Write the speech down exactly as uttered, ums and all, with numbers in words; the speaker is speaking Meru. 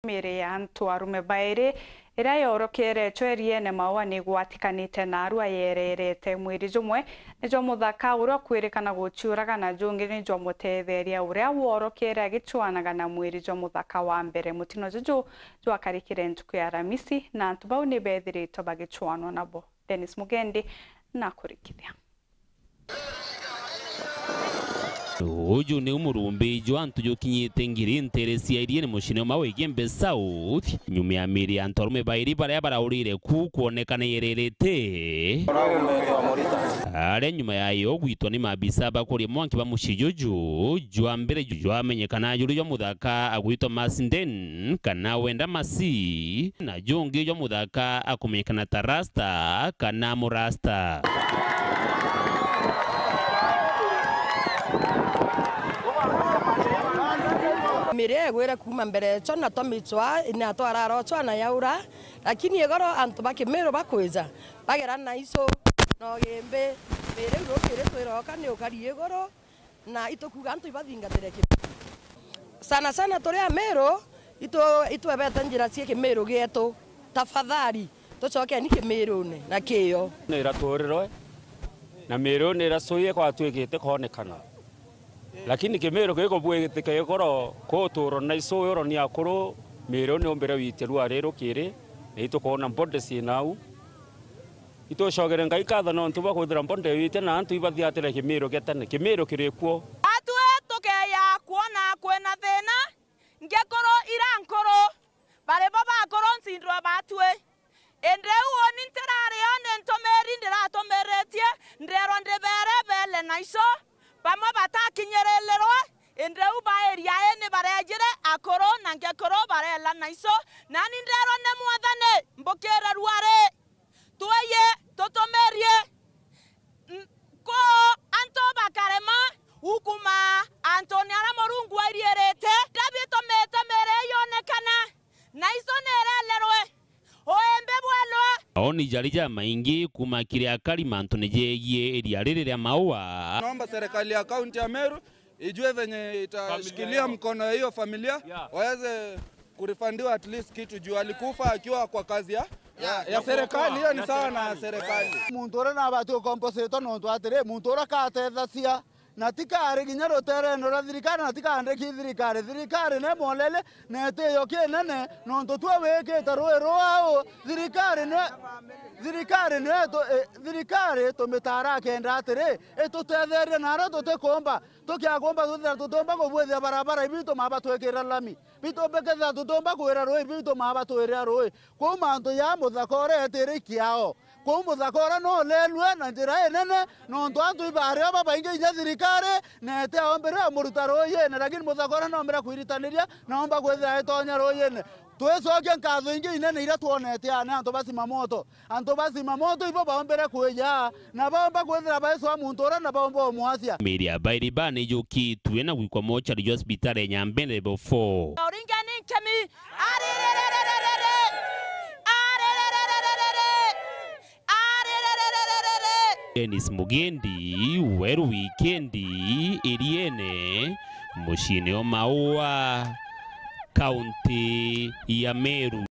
Miiri ya antu arume bairi iria yorokere echo eriene Maua ni igwatikanite na arua yererete. Mwiri jumwe ni jwa muthaka uria ukwirikana guciuraga, na jungi ni jwa mutetheria uria worokere agichwanaga na mwiri jwa muthaka wa mbere. Mutino juju jwakarikire ntuku ya Aramisi, na antu bau ni bethiritwe bagichwanwa nabo. Dennis Mugendi nakurikithia. Uju niu murumbi jwa antu jukinyite ngiri ntere cia iriene mucine umwe wa Igembe South, nyuma ya miiri ya antu arume bairi baria baraurire ku kwonekana iererete. Aria nyuma yayo gwitwa ni maabisa ba kuria mwanki ba mucii juju, jwa mbere ju-, jwamenyekana juri jwa muthaka agwitwa Masinden kana Wenda Masi, na jungi jwa muthaka akumenyekana ta Rasta kana Murasta. Miiri igwire kuuma mbere echo na twamicwa na twararochwa na yaura, lakini igoro antu ba Kimiru bakwija bagera na icu na ugimbi. Miiri iu rukiri twiroka ni ukari iguru, na itukuga antu ibathingatire Kimiru. Sana sana turi Amiru, itu-, itwebete njira cia Kimiru gietu. Tafadhali, tucokeni Kimirune na kiyo. Ni iraturirwe, na Miru ni iracuie kwatwikite koonekana. Lakini Kimiru gikubwitike igoro kuturwa na icu uro ni akuru, Miru ni umbire witirua ari rukiri, na itukwona body ciina au. Itucokere Ngai nkatho nontu bwa kwithira mbonde wite na antu ibathiatire Kimiru gia tene. Kimiru kiri kuo. Atwi tukeya kwona kwina thina, ngikuru ira nkuru, bari bo bakuru ncindwa batwi. Indi riu uni ntirari o ni ntumiri ndiratumiritie, ndeerwa ndibere beele na ico, bamwe batakinyirilirwe, indi riu bairia ini barejire akuru na ngikuru bareela na ico, nani ndeerwa ni Mwathani, mbukire ruari. Tweye tutumirie, n-, ko antu bakarema ukuma antuni aria Murungu airiirite. Ndabi tumite miiri yonekana, na icu niirelerwe, uimbi bwelwe. Maoni jari jamaingi kuuma kiri akari mantune jegie iria riri ria Maua. Naomba serikali ya kaunti ya Meru ijue venye itashikilia mkono ya hiyo familia, yeah, waweze kurifandiwa at least kitu juu alikufa akiwa kwa kazi ya, ya, ya serikali. Hiyo ni sawa na serikali. Muntu uria nabati ukompositwa nontu atiri, muntu uria katethacia na tikari kinya ruterene rwa thirikari na tikandiki thirikari. Thirikari ni mwolele na itiyo kinene nontu twe wikite rui rwau. Thirikari ni, thirikari ni tu-, eh, thirikari tumitara akenda atiri, itutetherie na aria tutikumba. Tukiagomba twithira tutiumba kubwithia barabara ibitu maba twikira lami. Bitu bikethira tutiumba kwira rui, bitu maba twirira rui. Kwou mantu ja muthaka uria etiri kiao. Kwou muthaka uria no ulelue na njira inene, nontu antu ibario babaingi inya thirikari, na itiaombire umuruta ruuyine, lakini muthaka uria noombire kwiritaniria, naomba kwithira itonya ruuyine. Twicokia nkatho ingi inene iria twonete aa ni antu ba Zimamoto. Antu ba Zimamoto ibo baombere kwija, na baomba kwithira baicwa muntu uria, na baomba umwacia. Miiri ya bairi baa ni ijukitue na gwikwa mochari jwa cibitari ya Nyambe level four. Uringe ni nkemi. Arirerererere. Arirerererere. Arirerererere. Dennis Mugendi, Weru Wikendi, Iriene, muciine o Maua, kaunti ya Meru.